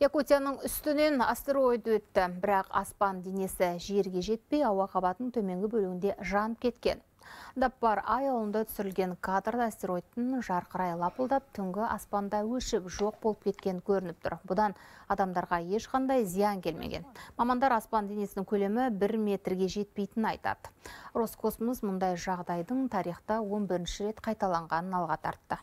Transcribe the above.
Якутияның үстінен астероид өтті, бірақ аспан денесі жерге жетпей, ауа қабатының төменгі бөлігінде жанып кеткен. Даппар айылында түсірілген кадрда астероидтың жарқырай лапылдап, түнгі аспанда өшіп жоқ болып кеткен көрініп тұр. Бұдан адамдарға ешқандай зиян келмеген. Мамандар аспан денесінің көлемі 1 метрге жетпейтінін айтады. Роскосмос мұндай жағдайдың тарихта 11-ші рет қайталанғанын алға тартты.